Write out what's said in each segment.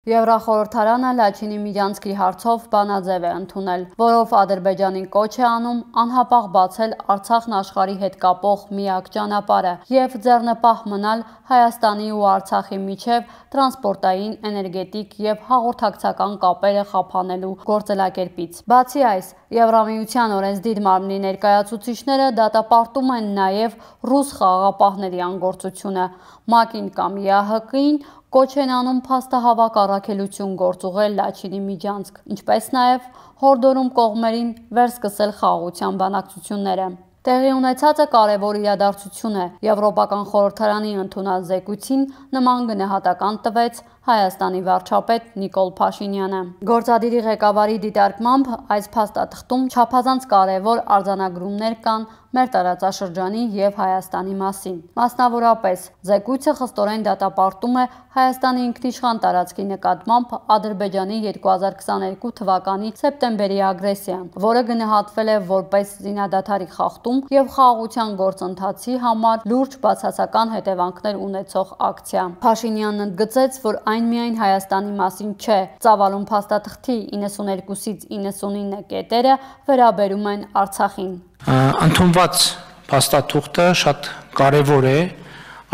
Եվրախորհրդարանը Լաչինի Միջանցքի հարցով բանաձև է ընդունել, որով Ադրբեջանին կոչ է անում անհապաղ բացել Արցախն աշխարհի հետ կապող միակ ճանապարհը և ձեռնպահ մնալ Հայաստանի ու Արցախի միջև տրանսպորտային, էներգետիկ և հաղորդակցական կապերը խափանելու գործելակերպից։ Բացի այս, Եվրամիության օրենսդիր մարմնի ներկայացուցիչները դատապարտում են նաև ռուս խաղաղապահների անգործությունը, ՄԱԿ-ին կամ ԵԱՀԿ-ին կոչ են անում փաստահավաք առաքելություն գործուղել Լաչինի Միջանցք, ինչպես նաև հորդորում կողմերին վերսկսել խաղաղության բանակցությունները։ Տեղի ունեցածը կարևոր իրադարձություն է։ Եվրոպական խորհրդարանի ընդունած զեկույցին նման գնահատական տվեց Հայաստանի վարչապետ Նիկոլ Փաշինյանը։ Գործադիրի ղեկավարի դիտարկմամբ այս փաստաթղթում չափազանց կարևոր արձանագրումներ կան մեր տարածաշրջանի և Հայաստանի մասին։ Մասնավորապես, զեկույցը խստորեն դատապարտում է Հայաստանի ինքնիշխան տարածքի նկատմամբ Ադրբեջանի 2022 թվականի սեպտեմբերի ագրեսիան, որը գնահատվել է որպես զինադադարի խախտում և խաղաղության գործընթացի համար լուրջ բացասական հետևանքներ ունեցող ակցիա։ Փաշինյանն ընդգծեց, որ այն միայն Հայաստանի մասին չէ, ծավալուն փաստաթղթի 92-ից 99 կետերը վերաբերում են Արցախին։ Ընդունված փաստաթուղթը շատ կարևոր է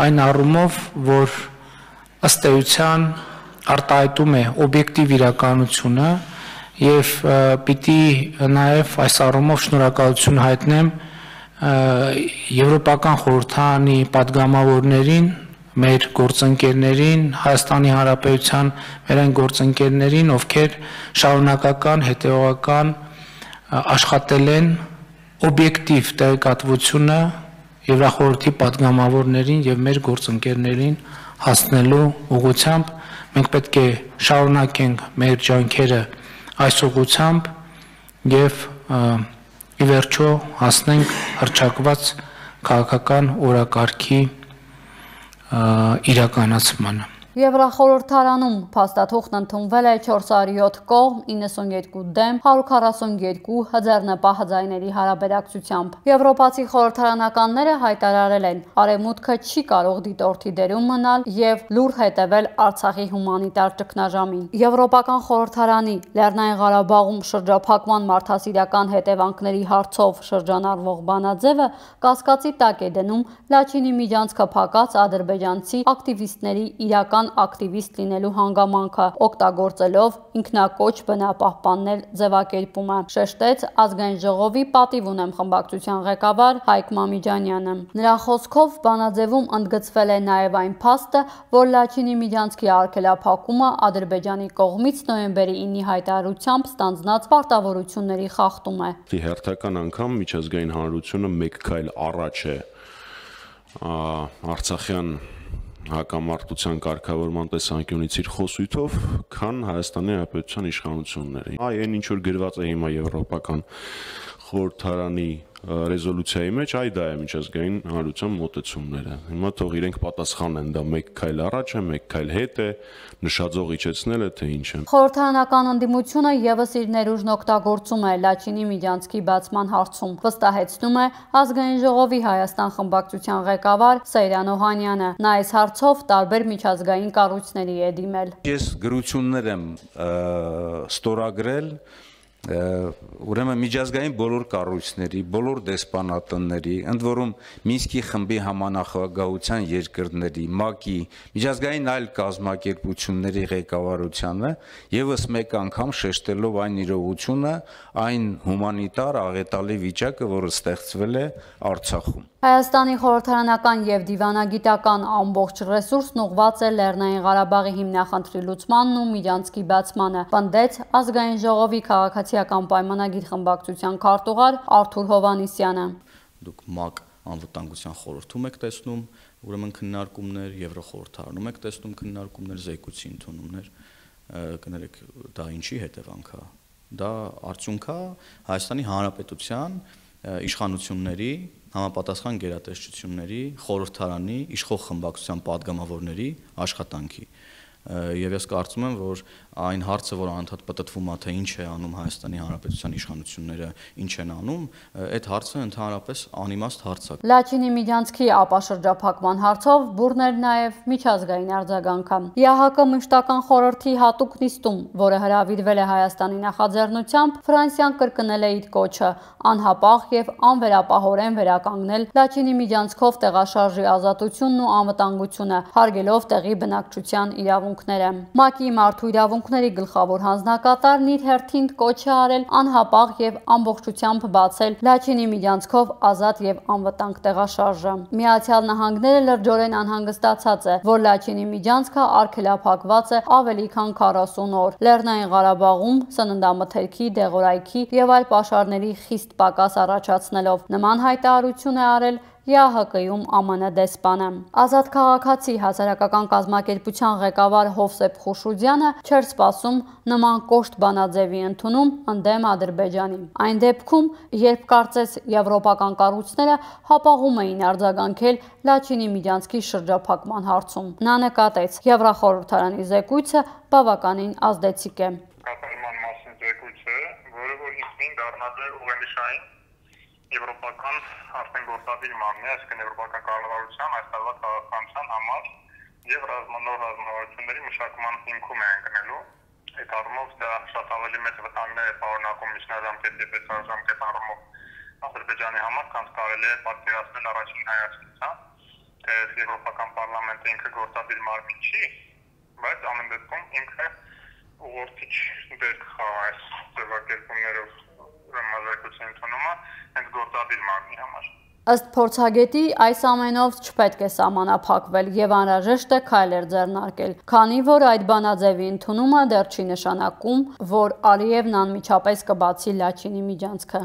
այն առումով, որ ըստ էության արտահայտում է օբյեկտիվ իրականությունը և պիտի նաև այս առումով շնորհակալություն հայտնեմ Եվրոպական խորհրդարանի պատգամավորներին, մեր գործընկերներին, Հայաստանի Հանրապետության մեր այն գործընկերներին, ովքեր շարունակական, հետևողական աշխատել են օբյեկտիվ տեղեկատվությունը Եվրախորհրդի պատգամավորներին և մեր գործընկերներին հասնելու ուղղությամբ։ Մենք պետք է շարունակենք մեր ջանքերը այս ուղղությամբ և ի վերջո հասնենք հռչակված քաղաքական օրակարգի իրականացմանը։ Եվրախորհրդարանում փաստաթուղթն ընդունվել է 407 կողմ, 92 դեմ, 142 հձեռնպահ ձայների հարաբերակցությամբ։ Եվրոպացի խորհրդարանականները հայտարարել են, Արևմուտքը չի կարող դիտորդի դերում մնալ և լուռ հետևել Արցախի հումանիտար ճգնաժամին։ Եվրոպական խորհրդարանի Լեռնային Ղարաբաղում շրջափակման մարդասիրական հետևանքների հարցով շրջանառվող բանաձևը կասկածի տակ է դնում Լաչինի Միջանցքը փակած ադրբեջանցի ակտիվիստների իրական ակտիվիստ լինելու հանգամանքը, օգտագործելով ինքնակոչ բնապահպաններ ձևակերպումը, շեշտեց Ազգային ժողովի պատիվ ունեմ խմբակցության ղեկավար Հայկ Մամիջանյանը։ Նրա խոսքով բանաձևում ընդգծվել է նաև այն փաստը, որ Լաչինի Միջանցքի արգելափակումը Ադրբեջանի կողմից նոյեմբերի 9-ի հայտարարությամբ ստանձնած պարտավորությունների խախտում է։ Հերթական անգամ միջազգային հանրությունը մեկ քայլ առաջ է արցախյան հակամարտության կարգավորման տեսանկյունից իր խոսույթով, քան Հայաստանի Հանրապետության իշխանությունները։ Այն ինչ որ գրված է հիմա Եվրոպական խորհրդարանի ռեզոլյուցիայի մեջ, դա է միջազգային հանրության մոտեցումները։ Հիմա թող իրենք պատասխանեն, դա մեկ քայլ առաջ է, մեկ քայլ հետ է, նշաձող իջեցնել է, թե ինչ է։ Խորհրդարանական ընդդիմությունը ևս իր ներուժն օգտագործում է Լաչինի Միջանցքի բացման հարցում, վստահեցնում է Ազգային ժողովի Հայաստան խմբակցության ղեկավար Սեյրան Օհանյանը։ Նա այս հարցով տարբեր միջազգային կառույցների է դիմել։ Ես գրություններ եմ ստորագրել ուրեմն միջազգային բոլոր կառույցների, բոլոր դեսպանատների, ընդ որում Մինսկի խմբի համանախագահության երկրների, ՄԱԿ-ի, միջազգային այլ կազմակերպությունների ղեկավարությանը ևս մեկ անգամ շեշտելով այն իրողությունը, այն հումանիտար աղետալի վիճակը, որը ստեղծվել է Արցախում։ Հայաստանի խորհրդարանական և դիվանագիտական ամբողջ ռեսուրսն ուղղված է Լեռնային Ղարաբաղի հիմնախնդրի լուծմանն ու Միջանցքի բացմանը, պնդեց Ազգային ժողովի քաղաքացիական պայմանագիր խմբակցության քարտուղար Արթուր Հովհաննիսյանը։ Դուք ՄԱԿ անվտանգության խորհրդում եք տեսնում ուրեմն քննարկումներ, Եվրոխորհրդարանում եք տեսնում քննարկումներ, զեկույցի ընդունումներ, կներեք, դա ինչի հետևանք է։ Դա արդյունք է Հայաստանի Հանրապետության իշխանությունների համապատասխան գերատեսչությունների, խորհրդարանի, իշխող խմբակցության պատգամավորների աշխատանքի։ Եվ ես կարծում եմ, որ այն հարցը, որ անդադ պատտվում է, թե ինչ է անում Հայաստանի Հանրապետության իշխանությունները, ինչ են անում, այդ հարցը ընդհանրապես անիմաստ հարց է։ Լաչինի Միջանցքի ապաշրջափակման հարցով բուռն էր նաև միջազգային արձագանքը։ ԵԱՀԿ մշտական խորհրդի հատուկ նիստում, որը հրավիրվել է Հայաստանի նախաձեռնությամբ, Ֆրանսիան կրկնել է իր կոչը անհապաղ եւ անվերապահորեն վերականգնել Լաչինի Միջանցքով տեղաշարժի ազատությունն ու անվտանգությունը, հարգելով տեղի բնակչության իրավունքները։ ՄԱԿ-ի մարդու իրավունքների գլխավոր հանձնակատարն իր հերթին կոչ է արել անհապաղ եւ ամբողջությամբ բացել Լաչինի Միջանցքով ազատ եւ անվտանգ տեղաշարժը։ Միացյալ Նահանգները լրջորեն անհանգստացած է, որ Լաչինի Միջանցքը արգելափակված է ավելի քան 40 օր։ Լեռնային Ղարաբաղում սննդամթերքի, դեղորայքի եւ այլ պաշարների խիստ պակաս առաջացնելով նման հայտարարություն է արել ԵԱՀԿ-ում ԱՄՆ դեսպանը։ Ազատ քաղաքացի հասարակական կազմակերպության ղեկավար Հովսեփ Խուշուդյանը չէր սպասում նման կոշտ բանաձևի ընդունում ընդդեմ Ադրբեջանի։ Այն դեպքում, երբ կարծես եվրոպական կառույցները հապաղում էին արձագանքել Լաչինի Միջանցքի շրջափակման հարցում։ Նա նկատեց, Եվրախորհրդարանի զեկույցը բավականին ազդեցիկ է։ Կատարման մասին զեկույց է, որը որ ինքնին դառնած է ուղենիշային եվրոպական արդեն գործադիր մանն է, այսինքն եվրոպական կառավարության այս տարվա քաղաքականության համար եւ նոր ռազմավարությունների մշակման հիմքում է ընկնելու։ Այդ առումով դա շատ ավելի մեծ վտանգներ է պարունակում միջնաժամկետ եւ բեսաժամկետ առումով Ադրբեջանի համար, քան կարելի է պատկերացնել առաջին հայացքից, թե եվրոպական պարլամենտը ինքը գործադիր մարմին չի, բայց ամեն դեպքում ինքը ուղղորդիչ դեր կխաղա այս ձևակերպումներով ռազմազեկույցի ընդունումը հենց գործադիր մարմնի համար։ Ըստ փորձագետի, այս ամենով չպետք է սահմանափակվել եւ անհրաժեշտ է քայլեր ձեռնարկել, քանի որ այդ բանաձևի ընդունումը դեռ չի նշանակում, որ Ալիևն անմիջապես կբացի Լաչինի Միջանցքը։